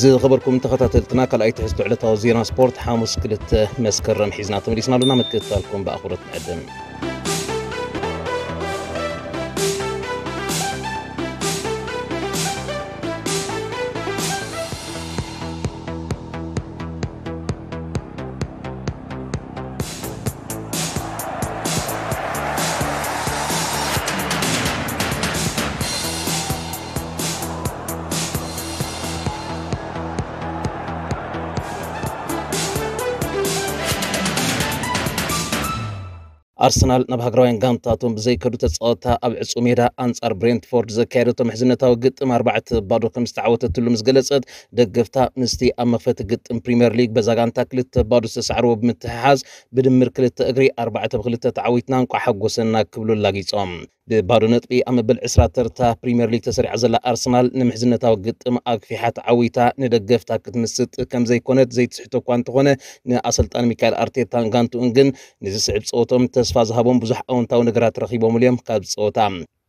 ዝኸበርኩም ተኸታተልትና፣ ካልኣይ ትሕዝቶ ዕለታዊ ዜና ስፖርት ሓሙስ ክልተ መስከረም ሒዝና ተመሊስና ኣለና። ምክትታልኩም ብኣኽብሮት ንዕድም። ኣርሰናል ናብ ሃገራውያን ጋንታቶም ብዘይከዱ ተጻወታ ኣብ ዕጹ ሜዳ ኣንጻር ብሬንትፎርድ ዘካየደቶ ምሕዝነታዊ ግጥም ኣርባዕተ ባዶ ከም ዝተዓወተትሉ ምስ ገለጸት፣ ደገፍታ ምስቲ ኣብ መኽፈቲ ግጥም ፕሪምየር ሊግ በዛ ጋንታ ክልተ ባዶ ዝተሳዕርዎ ብምትሕሓዝ ብድምር ክልተ እግሪ ኣርባዕተ ብክልተ ተዓዊትና እንቋዕ ሓጎሰና ክብሉ ኣላጊጾም። ብባዶ ነጥቢ ኣብ መበል ዕስራ ተርታ ፕሪምየር ሊግ ተሰሪዓ ዘላ ኣርሰናል ንምሕዝነታዊ ግጥም ኣግፊሓ ተዓዊታ ንደገፍታ ክትምስጥ ከም ዘይኮነት ዘይትስሕቶ እኳ እንተኾነ፣ ንኣሰልጣኒ ሚካኤል ኣርቴታን ጋንትኡን ግን ንዝስዕብ ጸወቶም ተስፋ ዝሃቦም ብዙሕ ኣወንታዊ ነገራት ረኺቦምሉ እዮም። ካብ ጸወታ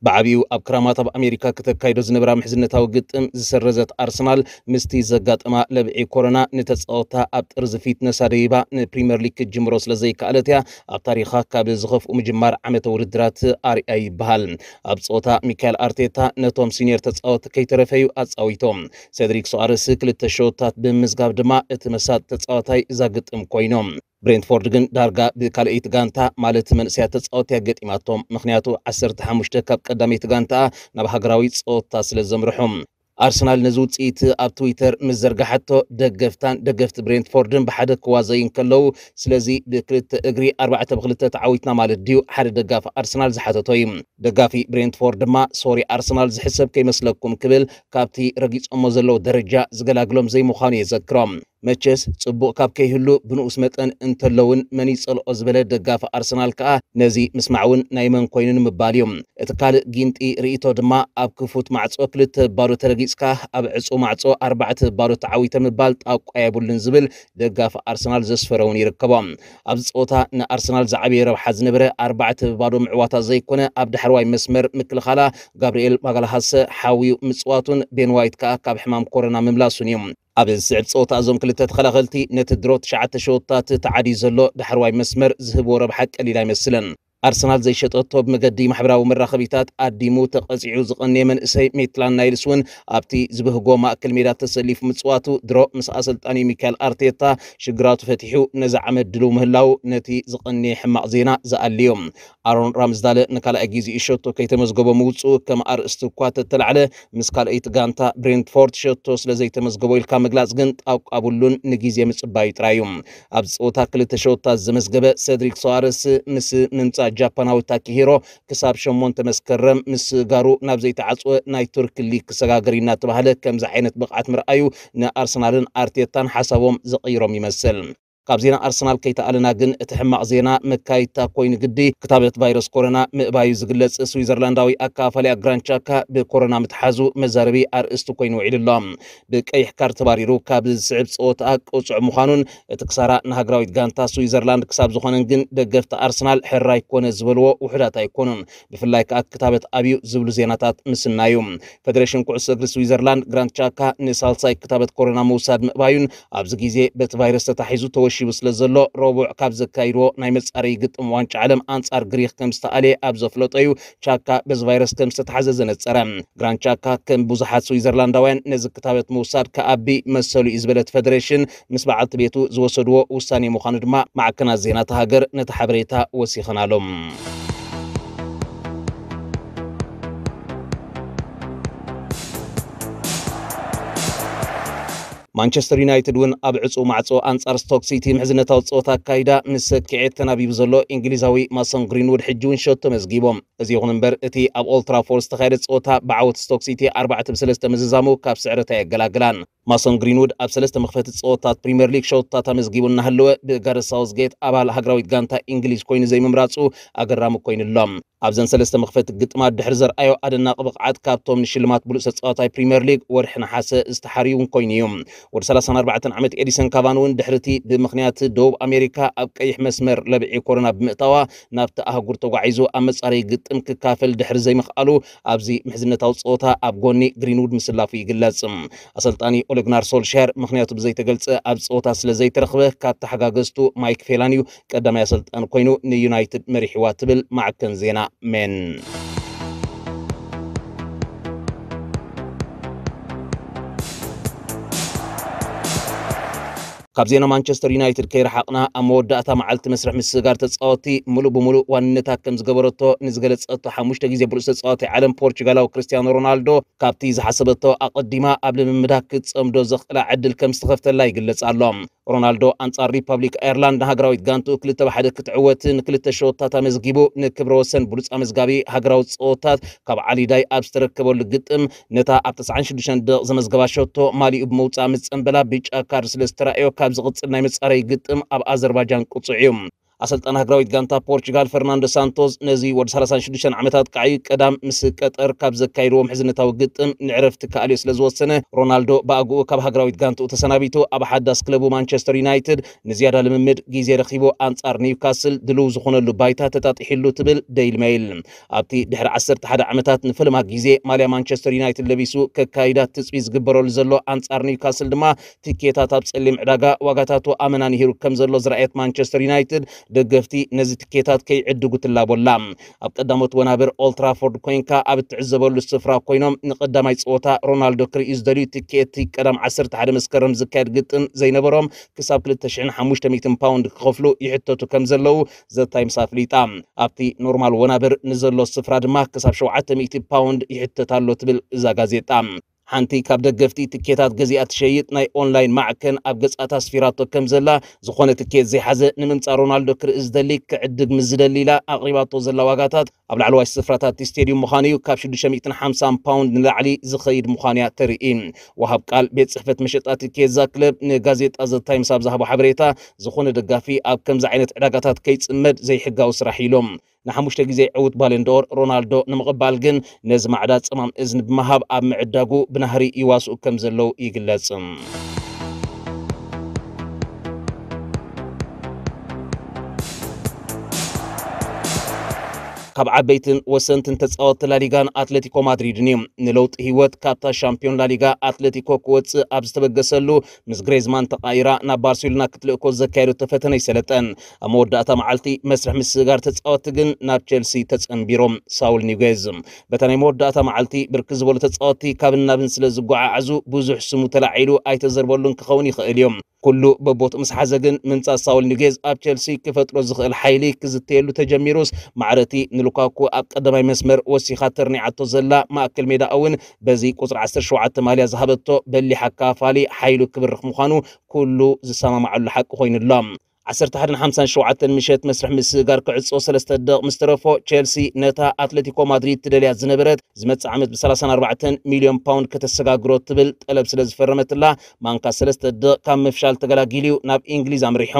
ብዓቢኡ ኣብ ክራማት ኣብ ኣሜሪካ ክተካይዶ ዝነበራ ምሕዝነታዊ ግጥም ዝሰረዘት ኣርሰናል ምስቲ ዘጋጠማ ለብዒ ኮሮና ንተጻወታ ኣብ ጥርዚ ፊትነሳ ደይባ ንፕሪምየር ሊግ ክትጅምሮ ስለ ዘይከኣለት እያ ኣብ ታሪኻ ካብ ዝኸፍኡ ምጅማር ዓመተ ውድድራት ኣርያ ይበሃል። ኣብ ጸወታ ሚካኤል ኣርቴታ ነቶም ሲኒየር ተጻወቲ ከይተረፈዩ ኣጻዊቶም። ሴድሪክ ሶኣረስ ክልተ ሸወታት ብምምዝጋብ ድማ እቲ መሳጢ ተጻዋታይ እዛ ግጥም ኮይኖም። ብሬንትፎርድ ግን ዳርጋ ብካልኣይቲ ጋንታ ማለት መንእሰያት ተጻወቲ እያ ገጢማቶም። ምኽንያቱ ዓሰርተ ሓሙሽተ ካብ ቀዳመይቲ ጋንታ ናብ ሃገራዊ ጸወታ ስለ ዘምርሑ። ኣርሰናል ነዚ ውጽኢት ኣብ ትዊተር ምስ ዘርጋሓቶ፣ ደገፍታን ደገፍቲ ብሬንትፎርድን ብሓደ ክዋዘዩ እንከለዉ፣ ስለዚ ብክልተ እግሪ ኣርባዕተ ብክልተ ተዓዊትና ማለት ድዩ? ሓደ ደጋፊ ኣርሰናል ዝሓተቶ እዩ። ደጋፊ ብሬንትፎርድ ድማ፣ ሶሪ ኣርሰናል ዝሕሰብ ከይመስለኩም ክብል ካብቲ ረጊጾሞ ዘለዉ ደረጃ ዝገላግሎም ዘይምዃኑ የዘክሮም። መቸስ ጽቡቕ ካብ ከይህሉ ብንኡስ መጠን እንተሎውን መን ይጸልኦ ዝበለ ደጋፊ ኣርሰናል ከኣ ነዚ ምስማዕ እውን ናይ መን ኮይኑ ንምባል እዩ። እቲ ካልእ ጊንጢ ርእይቶ ድማ ኣብ ክፉት ማዕጾ ክልተ ባዶ ተረጊጽካ ኣብ ዕጹው ማዕጾ ኣርባዕተ ባዶ ተዓዊተ ምባል ጣቋ የብሉን ዝብል ደጋፊ ኣርሰናል ዘስፈረ እውን ይርከቦ። ኣብዚ ጸወታ ንኣርሰናል ዝዓበየ ረብሓ ዝነበረ ኣርባዕተ ብባዶ ምዕዋታ ዘይኮነ ኣብ ዳሕረዋይ መስመር ምክልኻላ ጋብርኤል ማጋልሃሰ ሓውዩ ምጽዋቱን ቤን ዋይት ከኣ ካብ ሕማም ኮሮና ምምላሱን እዩ። ኣብ ዝስዕብ ጸወታ እዞም ክልተ ተኸላኸልቲ ነቲ ድሮ ትሽዓተ ሸወታት ተዓድዩ ዘሎ ዳሕረዋይ መስመር ዝህብዎ ረብሓ ቀሊል ኣይመስልን። ኣርሰናል ዘይሸጠቶ ብመገዲ ማሕበራዊ መራኸቢታት ኣዲሙ ተቐጺዑ ዝቐነየ መንእሰይ ሜትላን ናይልስ እውን ኣብቲ ዝበህጎ ማእከል ሜዳ ተሰሊፉ ምጽዋቱ ድሮ ምስ ኣሰልጣኒ ሚካኤል ኣርቴታ ሽግራቱ ፈቲሑ ነዚ ዓመት ድልው ምህላው ነቲ ዝቐነየ ሕማቕ ዜና ዝኣልዮ። ኣሮን ራምስዳለ ንካልኣይ ግዜኡ ሸቶ ከይተመዝገቦ ምውጽኡ ከም ኣርእስቲ እኳ ተተላዕለ፣ ምስ ካልኣይቲ ጋንታ ብሬንትፎርድ ሸቶ ስለ ዘይተመዝገቦ ኢልካ ምግላጽ ግን ጣቋ ብሉን ንግዜ ምጽባዩ ጥራይ እዩ። ኣብዚ ጸወታ ክልተ ሸወታት ዘመዝገበ ሰድሪክ ሶዋረስ ምስ ምምጻእ ጃፓናዊ ታኪሂሮ ክሳብ ሸሞንተ መስከረም ምስጋሩ ናብ ዘይተዓጽወ ናይ ቱርክ ሊግ ክሰጋገር እዩ እናተባህለ ከምዚ ዓይነት ብቕዓት ምርኣዩ ንኣርሰናልን ኣርቴታን ሓሳቦም ዘቐይሮም ይመስል። ካብ ዜና ኣርሰናል ከይተኣለና ግን እቲ ሕማቕ ዜና መካይታ ኮይኑ ግዲ ክታበት ቫይረስ ኮሮና ምእባዩ ዝግለጽ ስዊዘርላንዳዊ ኣካፋሊ ኣግራንቻካ ብኮሮና ምትሓዙ መዛረቢ ኣርእስቲ ኮይኑ ውዒሉ ኣሎ። ብቀይሕ ካርድ ተባሪሩ ካብ ዝስዕብ ጸወታ ቅጹዕ ምዃኑን እቲ ክሳራ ንሃገራዊት ጋንታ ስዊዘርላንድ ክሳብ ዝኾነን ግን ደገፍቲ ኣርሰናል ሕራይ ኮነ ዝበልዎ ውሑዳት ኣይኮኑን። ብፍላይ ከኣ ክታበት ኣብዩ ዝብሉ ዜናታት ምስናዩ። ፈደሬሽን ኩዕሶ እግሪ ስዊዘርላንድ ግራንድ ቻካ ንሳልሳይ ክታበት ኮሮና ምውሳድ ምእባዩን ኣብዚ ግዜ በቲ ቫይረስ ተታሒዙ ተወሺቡ ስለ ዘሎ ረቡዕ ካብ ዘካይድዎ ናይ መጻረዪ ግጥም ዋንጫ ዓለም ኣንጻር ግሪኽ ከም ዝተኣልየ ኣብ ዘፍለጦዩ ቻካ በዚ ቫይረስ ከም ዝተታሓዘ ዘነጸረ። ግራንድ ቻካ ከም ብዙሓት ስዊዘርላንዳውያን ነዚ ክታበት ምውሳድ ከኣቢ መሰሉ እዩ ዝበለት ፈደሬሽን ምስ በዓልቲ ቤቱ ዝወሰድዎ ውሳኔ ምዃኑ ድማ ማዕከናት ዜና እታ ሃገር ነቲ ሓበሬታ ወሲኸናሎም። ማንቸስተር ዩናይትድ እውን ኣብ ዕጹው ማዕጾ ኣንጻር ስቶክ ሲቲ ምሕዝነታዊ ጸወታ ኣካይዳ ምስ ሰኪዔት ተናቢቡ ዘሎ እንግሊዛዊ ማሶን ግሪንውድ ሕጂ እውን ሸቶ መዝጊቦም። እዚ ይኹን እምበር እቲ ኣብ ኦልትራፎርድ ዝተኻየደ ጸወታ ብዓወት ስቶክ ሲቲ ኣርባዕተ ብሰለስተ ምዝዛሙ ካብ ስዕረት ኣየገላግላን። ማሶን ግሪንውድ ኣብ ሰለስተ መኽፈቲ ጸወታት ፕሪምየር ሊግ ሸቶታት ኣመዝጊቡ እናሃለወ ብጋረስ ሳውዝጌት ኣባል ሃገራዊት ጋንታ እንግሊዝ ኮይኑ ዘይምምራጹ ኣገራሚ ኮይኑ ኣሎ። ኣብዘን ሰለስተ መኽፈቲ ግጥማት ድሕሪ ዘርኣዮ ኣደናቂ ብቕዓት ካብቶም ንሽልማት ብሉጽ ተጻዋታይ ፕሪምየር ሊግ ወርሒ ነሓሰ ዝተሓርዩ እውን ኮይኑ እዩ። ወዲ ሰላሳን ኣርባዕተን ዓመት ኤዲሰን ካቫን እውን ድሕሪ እቲ ብምኽንያት ደቡብ ኣሜሪካ ኣብ ቀይሕ መስመር ለብዒ ኮሮና ብምእታዋ ናብቲ ኣህጉር ተጓዒዙ ኣብ መጻረዪ ግጥም ክካፈል ድሕሪ ዘይምኽኣሉ ኣብዚ ምሕዝነታዊ ጸወታ ኣብ ጎኒ ግሪንውድ ምስላፉ ይግለጽ። ኣሰልጣኒ ሉግናር ሶልሻየር ምኽንያቱ ብዘይተገልጸ ኣብ ጸወታ ስለ ዘይተረኽበ፣ ካብ ተሓጋገዝቱ ማይክ ፌላን እዩ ቀዳማይ ኣሰልጣኒ ኮይኑ ንዩናይትድ መሪሕዋ ትብል ማዕከን ዜና ሜን። ካብ ዜና ማንቸስተር ዩናይትድ ከይረሓቕና፣ ኣብ መወዳእታ መዓልቲ መስርሕ ምስግጋር ተጻወትቲ፣ ምሉእ ብምሉእ ዋንነታ ከም ዝገበረቶ ንዝገለጸቶ ሓሙሽተ ግዜ ብሉጽ ተጻዋታይ ዓለም ፖርቹጋላዊ ክርስቲያኖ ሮናልዶ፣ ካብቲ ዝሓሰበቶ ኣቐዲማ ኣብ ልምምዳ ክትጸምዶ ዘኽእላ ዕድል ከም ዝተኸፍተላ ይግለጽ ኣሎ። ሮናልዶ ኣንጻር ሪፓብሊክ ኣየርላንድ ንሃገራዊት ጋንቱ ክልተ ብ ሓደ ክትዕወት ንክልተ ሸወታት ኣመዝጊቡ፣ ንክብረ ወሰን ብሉጽ ኣመዝጋቢ ሃገራዊ ጸወታት ካብ ዓሊ ዳይ ኣብ ዝተረከበሉ ግጥም፣ ነታ ኣብ ተስዓን ሽዱሽተን ደቕ ዘመዝገባ ሸቶ ማሊኡ ብምውጻእ ምስ ጸንበላ፣ ብጫ ካርድ ስለ ዝተራእዮ፣ ካብ ዝቕጽል ናይ መጻረዪ ግጥም ኣብ ኣዘርባጃን ቅጹዕ እዩ። ኣሰልጣኒ ሃገራዊት ጋንታ ፖርቹጋል ፈርናንዶ ሳንቶስ፣ ነዚ ወዲ ሰላሳን ሽዱሽተን ዓመታት ቃዒ ቀዳም ምስ ቀጠር ካብ ዘካይድዎ ምሕዝነታዊ ግጥም ንዕረፍቲ ክኣልዮ ስለ ዝወሰነ፣ ሮናልዶ ብኣግኡ ካብ ሃገራዊት ጋንትኡ ተሰናቢቱ፣ ኣብ ሓዳስ ክለቡ ማንቸስተር ዩናይትድ ንዝያዳ ልምምድ ግዜ ረኺቡ፣ ኣንጻር ኒውካስል ድልው ዝኾነሉ ባይታ ተጣጢሕሉ ትብል ደይሊ ሜይል። ኣብቲ ድሕሪ ዓሰርተ ሓደ ዓመታት ንፈለማ ግዜ ማልያ ማንቸስተር ዩናይትድ ለቢሱ ከካይዳ ትጽቢት ዝግበረሉ ዘሎ ኣንጻር ኒውካስል ድማ፣ ትኬታት ኣብ ጸሊም ዕዳጋ ዋጋታቱ ኣመና ንሂሩ ከም ዘሎ ዝረኣየት ማንቸስተር ዩናይትድ፣ ደገፍቲ ነዚ ትኬታት ከይዕድጉ ትላቦ ኣላ። ኣብ ቀዳሞት ወናብር ኦልትራፎርድ ኮይንካ ኣብ እትዕዘበሉ ስፍራ ኮይኖም ንቀዳማይ ጸወታ ሮናልዶ ክርእዩ ዝደልዩ፣ ትኬት ቀዳም ዓሰርተ ሓደ መስከረም ዝካየድ ግጥም ዘይነበሮም፣ ክሳብ ክልተ ሽሕን ሓሙሽተ ሚእትን ፓውንድ ክኸፍሉ ይሕተቱ ከም ዘለዉ ዘ ታይምስ ኣፍሊጣ። ኣብቲ ኖርማል ወናብር ንዘሎ ስፍራ ድማ ክሳብ ሸውዓተ ሚእቲ ፓውንድ ይሕተት ኣሎ ትብል እዛ ጋዜጣ። ሓንቲ ካብ ደገፍቲ ትኬታት ገዚኣ ትሸይጥ ናይ ኦንላይን ማዕከን ኣብ ገጻታ ኣስፊራቶ ከም ዘላ፣ ዝኾነ ትኬት ዘይሓዘ ንምምጻእ ሮናልዶ ክርኢ ዝደሊ ክዕድግ ምስ ዝደሊ ኢላ ኣቕሪባቶ ዘላ ዋጋታት፣ ኣብ ላዕለዋይ ስፍራታት እቲ ስቴድዩም ምዃኑ እዩ፣ ካብ ሽዱሽተ ሚእትን ሓምሳን ፓውንድ ንላዕሊ ዝኸይድ ምዃኑ እያ ተርኢ። ወሃብ ቃል ቤት ጽሕፈት መሸጣ ትኬት እዛ ክለብ ንጋዜጣ ዘ ታይምስ ኣብ ዝሃቦ ሓበሬታ፣ ዝኾነ ደጋፊ ኣብ ከምዚ ዓይነት ዕዳጋታት ከይጽመድ ዘይሕጋዊ ስራሕ ኢሎም። ንሓሙሽተ ግዜ ዕዉት ባለንዶር ሮናልዶ ንምቕባል ግን፣ ነዚ ማዕዳ ጸማም እዝኒ ብምሃብ ኣብ ምዕዳጉ ብናህሪ ይዋስኡ ከም ዘለዉ ይግለጽ። ካብ ዓበይትን ወሰንትን ተጻወትቲ ላሊጋን ኣትሌቲኮ ማድሪድን እዩ። ንለውጢ ህይወት ካብታ ሻምፒዮን ላሊጋ ኣትሌቲኮ ክወጽእ ኣብ ዝተበገሰሉ፣ ምስ ግሬዝማን ተቓይራ ናብ ባርሴሎና ክትልእኮ ዘካየደቶ ፈተነ ይሰለጠን። ኣብ መወዳእታ መዓልቲ መስርሕ ምስግጋር ተጻወትቲ ግን ናብ ቸልሲ ተጸንቢሮም። ሳውል ኒጉዝ በታ ናይ መወዳእታ መዓልቲ ብርክት ዝበሉ ተጻወትቲ ካብን ናብን ስለ ዝጓዓዓዙ ብዙሕ ስሙ ተላዒሉ ኣይተዘርበሉን ክኸውን ይኽእል እዩ። ኩሉ በቦትኡ ምስ ሓዘ ግን ምምጻእ ሳውል ኒጉዝ ኣብ ቸልሲ ክፈጥሮ ዝኽእል ሓይሊ ክዝተየሉ ተጀሚሩስ፣ ማዕረቲ ንሉካኩ ኣብ ቀዳማይ መስመር ወሲኻ ተርኒዓቶ ዘላ ማእከል ሜዳ እውን በዚ ቁጽሪ ዓሰርተ ሸውዓተ ማልያ ዝሃበቶ በሊሕ ኣካፋሊ ሓይሉ ክብርኽ ምዃኑ ኩሉ ዝሰማማዓሉ ሓቂ ኮይኑ ኣሎ። ዓሰርተ ሓደን ሓምሳን ሸውዓተን ምሸት መስርሕ ምስግጋር ክዕጾ ሰለስተ ደቕ ምስ ተረፎ፣ ቸልሲ ነታ ኣትሌቲኮ ማድሪድ ትደልያ ዝነበረት፣ ዝመጽእ ዓመት ብ ሰላሳን ኣርባዕተን ሚልዮን ፓውንድ ከተሰጋግሮ ትብል ጠለብ ስለ ዝፈረመትላ፣ ማንካ ሰለስተ ደቕ ካብ ምፍሻል ተገላጊሉ እዩ ናብ እንግሊዝ ኣምሪሑ።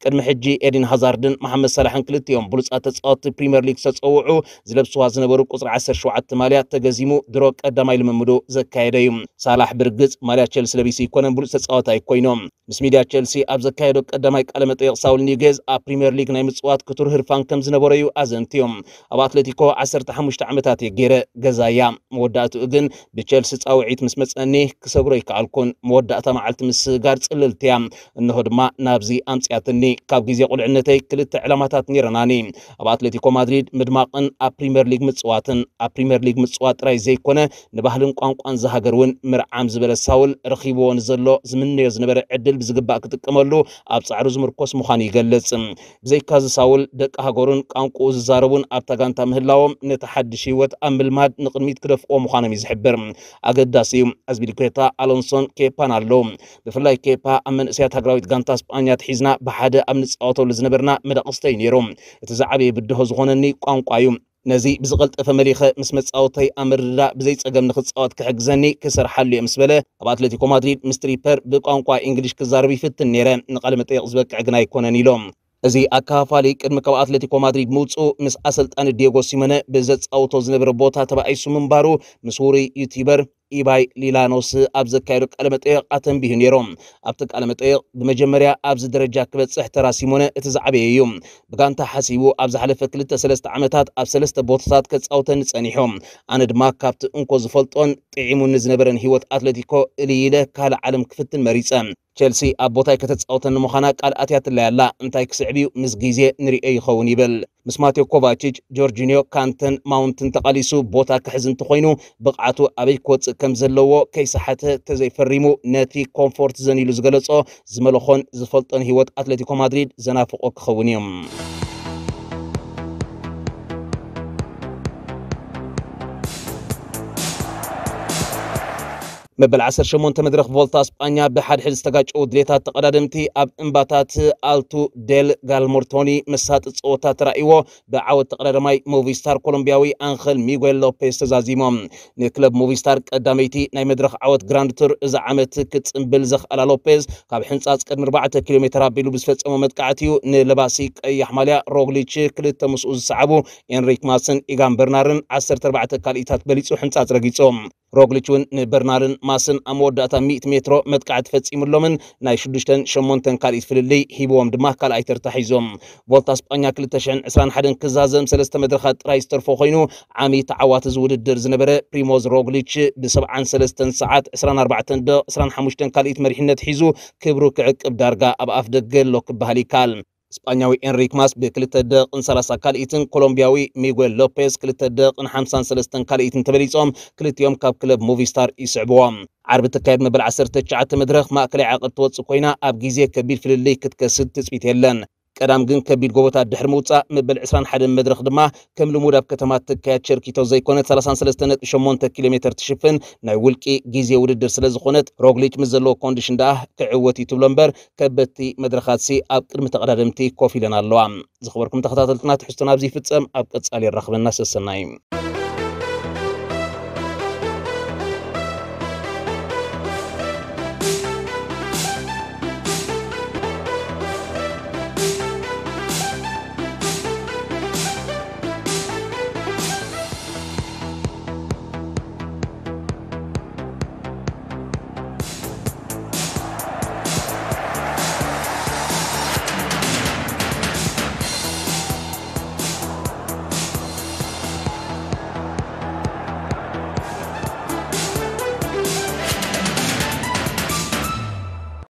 ቅድሚ ሕጂ ኤዲን ሃዛርድን መሓመድ ሳላሕን ክልቲኦም ብሉጻት ተጻወትቲ ፕሪምየር ሊግ ዝተጸውዑ፣ ዝለብስዋ ዝነበሩ ቁጽሪ ዓሰርተ ሸውዓተ ማልያ ተገዚሙ ድሮ ቀዳማይ ልምምዱ ዘካየደ እዩ። ሳላሕ ብርግጽ ማልያ ቸልሲ ለቢሱ ኣይኮነን ብሉጽ ተጻዋታይ ኮይኖም። ምስ ሚድያ ቸልሲ ኣብ ዘካየዶ ቀዳማይ ቃለ መጠይቕ ሳውል ኒጌዝ ኣብ ፕሪምየር ሊግ ናይ ምጽዋት ክቱር ህርፋን ከም ዝነበሮ እዩ ኣዘንትዩ። ኣብ ኣትሌቲኮ ዓሰርተ ሓሙሽተ ዓመታት እየ ገይረ ገዛያ። መወዳእትኡ ግን ብቸልሲ ጻውዒት ምስ መጸኒ ክሰግሮ ኣይከኣልኩን። መወዳእታ መዓልቲ ምስግጋር ጽልልቲ እያ። እንሆ ድማ ናብዚ ኣምጽያትኒ። ካብ ግዜ ቁልዕነተይ ክልተ ዕላማታት ነይረናኒ። ኣብ ኣትሌቲኮ ማድሪድ ምድማቕን ኣብ ፕሪምየር ሊግ ምጽዋትን። ኣብ ፕሪምየር ሊግ ምጽዋት ጥራይ ዘይኮነ ንባህልን ቋንቋን ዝሃገር እውን ምርዓም ዝበለ ሳውል፣ ረኺብዎ ንዘሎ ዝምነዮ ዝነበረ ዕድል ብዝግባእ ክጥቀመሉ ኣብ ጻዕሩ ዝምርኮስ ምዃኑ ይገልጽ። ብዘይካዚ ሳውል ደቂ ሃገሩን ቋንቋኡ ዝዛረቡን ኣብታ ጋንታ ምህላዎም ነቲ ሓድሽ ህይወት ኣብ ምልማድ ንቕድሚት ክደፍኦ ምዃኖም እዩ ዝሕብር። ኣገዳሲ እዩ። ኣዝፒሊኩዌታ፣ ኣሎንሶን ኬፓን ኣለዉ። ብፍላይ ኬፓ ኣብ መንእሰያት ሃገራዊት ጋንታ ስጳኛ ኣትሒዝና ብሓደ ኣብ ንጻወተሉ ዝነበርና መደቐስተ እዩ ነይሩ። እቲ ዝዓበየ ብድሆ ዝኾነኒ ቋንቋ እዩ። ነዚ ብዝቐልጠፈ መሊኸ ምስ መጻወተይ ኣብ ምርድዳእ ብዘይ ጸገም ንኽጻወት ክሕግዘኒ ክሰርሓሉ እየ ምስ በለ፣ ኣብ ኣትሌቲኮ ማድሪድ ምስ ትሪፐር ብቋንቋ እንግሊሽ ክዛረብ ይፍትን ነይረ። ንቃለ መጠይቕ ዝበቅዕ ግን ኣይኮነን ኢሎም። እዚ ኣከፋፋሊ ቅድሚ ካብ ኣትሌቲኮ ማድሪድ ምውጽኡ ምስ ኣሰልጣኒ ዲየጎ ሲሞነ ብዘጻውቶ ዝነበረ ቦታ ተባኢሱ ምንባሩ ምስ ውሩይ ዩቲዩበር ኢባይ ሊላኖስ ኣብ ዘካየዶ ቃለ መጠየቕ ኣተንቢሁ ነይሩ። ኣብቲ ቃለ መጠየቕ ብመጀመርያ ኣብዚ ደረጃ ክበጽሕ ተራ ሲሞነ እቲ ዝዓበየ እዩ። ብጋንታ ሓሲቡ ኣብ ዝሓለፈ ክልተ ሰለስተ ዓመታት ኣብ ሰለስተ ቦታታት ከጻውተኒ ጸኒሑ። ኣነ ድማ ካብቲ እንኮ ዝፈልጦን ጥዒሙኒ ዝነበረን ህይወት ኣትለቲኮ እልይ ኢለ ካልእ ዓለም ክፍትን መሪጸ። ቸልሲ ኣብ ቦታይ ከተጻውተኒ ምዃና ቃል ኣትያትለይ ኣላ። እንታይ ክስዕብ እዩ? ምስ ግዜ ንርእዮ ይኸውን ይብል። ምስ ማቴዮ ኮቫቺች፣ ጆርጂኒዮ፣ ካንተን ማውንትን ተቓሊሱ ቦታ ክሕዝ እንተኾይኑ ብቕዓቱ ኣበይ ክወጽእ ከም ዘለዎ ከይሰሓተ ተዘይፈሪሙ ነቲ ኮምፎርት ዘን ኢሉ ዝገለጾ ዝመለኾን ዝፈልጦን ህይወት ኣትሌቲኮ ማድሪድ ዘናፍቖ ክኸውን እዩ። መበል ዓሰርተ ሸሞንተ መድረኽ ቮልታ ስጳኛ ብሓድሕድ ዝተጋጨዉ ድሌታት ተቐዳደምቲ ኣብ እምባታት ኣልቱ ዴል ጋልሞርቶኒ መሳጢ ጸወታ ተራእይዎ ብዓወት ተቐዳዳማይ ሞቪስታር ኮሎምቢያዊ ኣንኸል ሚጉኤል ሎፔዝ ተዛዚሞም። ንክለብ ሞቪስታር ቀዳመይቲ ናይ መድረኽ ዓወት ግራንድ ቱር እዚ ዓመት ክጽንብል ዘኽኣላ ሎፔዝ ካብ ሕንጻጽ ቅድሚ ኣርባዕተ ኪሎ ሜትር ኣቢሉ ብዝፈጸሞ መጥቃዕቲ እዩ ንለባሲ ቀያሕ ማልያ ሮግሊች ክልተ ምስኡ ዝሰዓቡ ኤንሪክ ማስን ኢጋን በርናርን ዓሰርተ ኣርባዕተ ካልኢታት በሊጹ ሕንጻጽ ረጊጹ። ሮግሊች እውን ንበርናርን ማስን ኣብ መወዳእታ ሚእቲ ሜትሮ መጥቃዕቲ ፈጺሙሎምን ናይ ሽዱሽተን ሸሞንተን ካልኢት ፍልልይ ሂብዎም ድማ ካልኣይ ተርታ ሒዞም። ቮልታ ስጳኛ ክልተ ሽሕን ዕስራን ሓደን ክዛዘም ሰለስተ መድረኻት ጥራይ ዝተርፎ ኮይኑ ዓሚ ተዓዋቲ እዚ ውድድር ዝነበረ ፕሪሞዝ ሮግሊች ብሰብዓን ሰለስተን ሰዓት ዕስራን ኣርባዕተን ደቕ ዕስራን ሓሙሽተን ካልኢት መሪሕነት ሒዙ ክብሩ ክዕቅብ ዳርጋ ኣብ ኣፍ ደገ ኣሎ ክበሃል ይከኣል። ስጳኛዊ ኤንሪክ ማስ ብክልተ ደቕን ሰላሳ ካልኢትን ኮሎምቢያዊ ሚጉኤል ሎፔዝ ክልተ ደቕን ሓምሳን ሰለስተን ካልኢትን ተበሊጾም ክልቲኦም ካብ ክለብ ሙቪስታር ይስዕብዎም። ዓርቢ እትካየድ መበል ዓሰርተ ትሽዓተ መድረኽ ማእከላይ ዓቐብ ትወጽእ ኮይና ኣብ ግዜ ከቢድ ፍልልይ ክትከስድ ትጽቢት የለን። ቀዳም ግን ከቢድ ጎቦታት ድሕሪ ምውጻእ መበል ዕስራን ሓደን መድረኽ ድማ ከም ልሙድ ኣብ ከተማ ትካየድ ቸርኪቶ ዘይኮነት ሰላሳን ሰለስተን ነጥቢ ሸሞንተ ኪሎ ሜትር ትሽፍን ናይ ውልቂ ግዜ ውድድር ስለ ዝኾነት ሮግሊች ምስ ዘለዎ ኮንዲሽን ደኣ ክዕወት እዩ ትብሎ እምበር ከበድቲ መድረኻትሲ ኣብ ቅድሚ ተቐዳደምቲ ኮፍ ኢለን ኣለዋ። ዝኸበርኩም ተኸታተልትና ትሕዝቶና ኣብዚ ይፍጸም። ኣብ ቀጻሊ የራኽበና ሰሰናይ።